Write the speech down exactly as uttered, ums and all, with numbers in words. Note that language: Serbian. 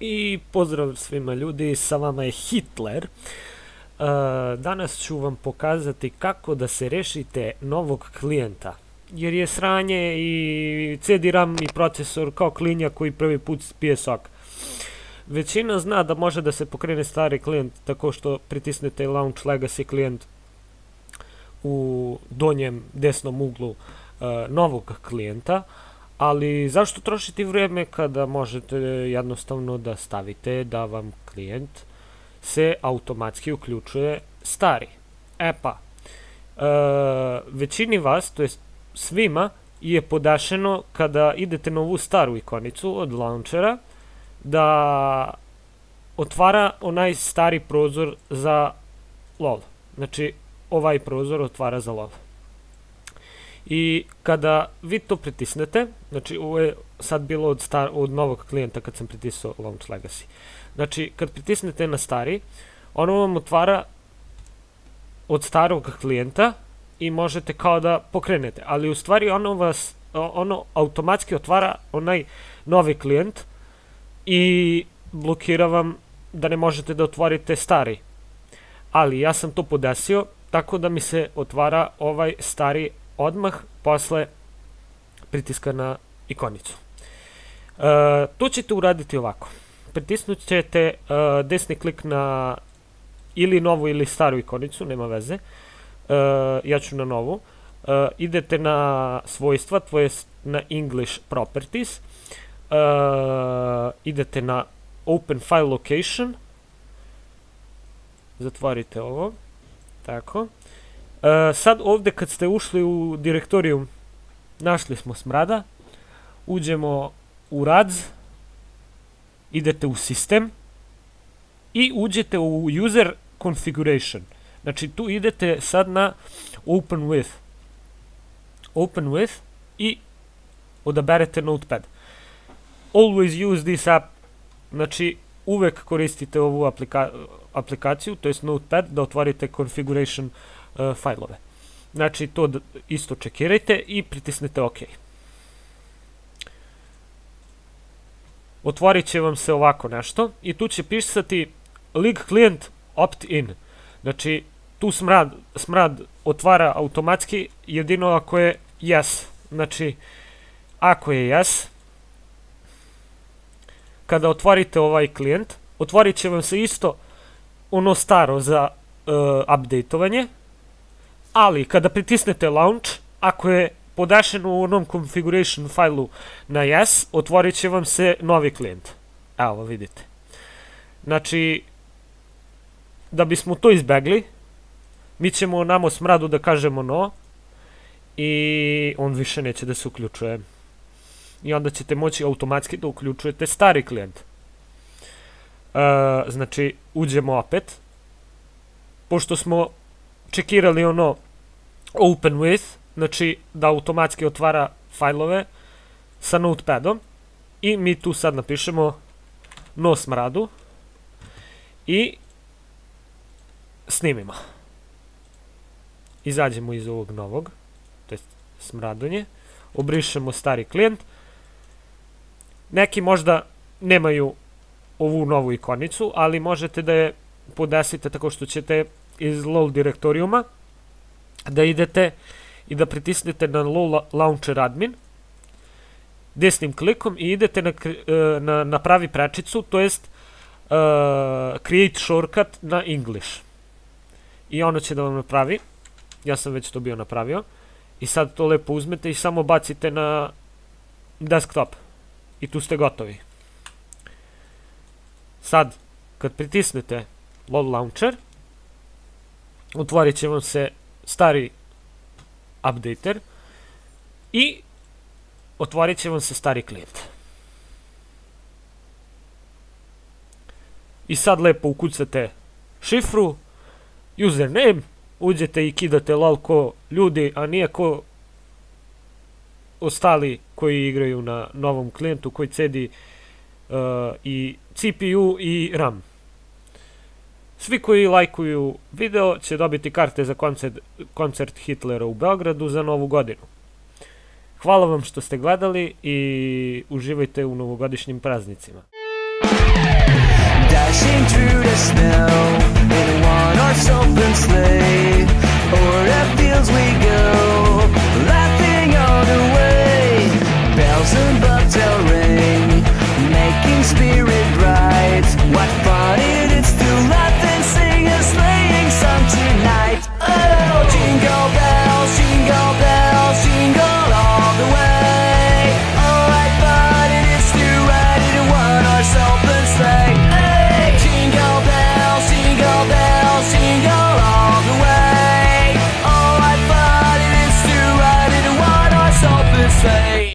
I pozdrav svima ljudi, sa vama je Hitler. Uh, danas ću vam pokazati kako da se rešite novog klijenta. Jer je sranje i C D RAM i procesor kao klinja koji prvi put pije sok. Većina zna da može da se pokrene stari klijent tako što pritisnete Launch Legacy klijent u donjem desnom uglu uh, novog klijenta. Ali zašto trošiti vrijeme kada možete jednostavno da stavite da vam klijent se automatski uključuje stari? E pa, e, većini vas, to jest svima, je podašeno kada idete na ovu staru ikonicu od launchera da otvara onaj stari prozor za lol. Znači, ovaj prozor otvara za lol. I kada vi to pritisnete, znači ovo je sad bilo od, star, od novog klijenta kad sam pritisao Launch Legacy. Znači kad pritisnete na stari, ono vam otvara od starog klijenta i možete kao da pokrenete. Ali u stvari ono vas, ono automatski otvara onaj novi klijent i blokira vam da ne možete da otvorite stari. Ali ja sam to podesio tako da mi se otvara ovaj stari odmah posle pritiska na ikonicu. E, to ćete uraditi ovako. Pritisnut ćete e, desni klik na ili novu ili staru ikonicu, nema veze. E, ja ću na novu. E, idete na svojstva, to je na English Properties. E, idete na Open File Location. Zatvorite ovo. Tako. Uh, sad ovdje kad ste ušli u direktorijum, našli smo smrada, uđemo u R A D S, idete u sistem i uđete u user configuration. Znači tu idete sad na open with. Open with i odaberete notepad. Always use this app, znači uvek koristite ovu aplika aplikaciju, to je notepad, da otvorite configuration Uh, fajlove. Znači to isto čekirajte i pritisnete OK. Otvorit će vam se ovako nešto i tu će pisati Lig client opt in. Znači tu smrad, smrad otvara automatski jedino ako je yes. Znači ako je yes, kada otvorite ovaj klijent, otvorit će vam se isto ono staro za uh, updateovanje. Ali, kada pritisnete launch, ako je podašeno u onom configuration failu na yes, otvorit će vam se novi klijent. Evo, vidite. Znači, da bismo to izbegli, mi ćemo namo smradu da kažemo no i on više neće da se uključuje. I onda ćete moći automatski da uključujete stari klijent. E, znači, uđemo opet. Pošto smo čekirali ono open with, znači da automatski otvara fajlove sa notepadom i mi tu sad napišemo no smradu i snimimo. Izađemo iz ovog novog, to je smradonje, obrišemo stari klijent. Neki možda nemaju ovu novu ikonicu, ali možete da je podesite tako što ćete iz lol direktorijuma da idete i da pritisnete na lol launcher admin desnim klikom i idete na, na, na pravi prečicu, to jest uh, create shortcut na English. I ono će da vam napravi. Ja sam već to bio napravio. I sad to lepo uzmete i samo bacite na desktop. I tu ste gotovi. Sad, kad pritisnete lol launcher, otvorit će vam se stari updater i otvorit će vam se stari klijent. I sad lepo ukucate šifru, username, uđete i kidate lol ko ljudi, a nije ko ostali koji igraju na novom klijentu koji cedi uh, i C P U i RAM. Svi koji lajkuju video će dobiti karte za koncert, koncert Hitlera u Beogradu za novu godinu. Hvala vam što ste gledali i uživajte u novogodišnjim praznicima. dashing dreams.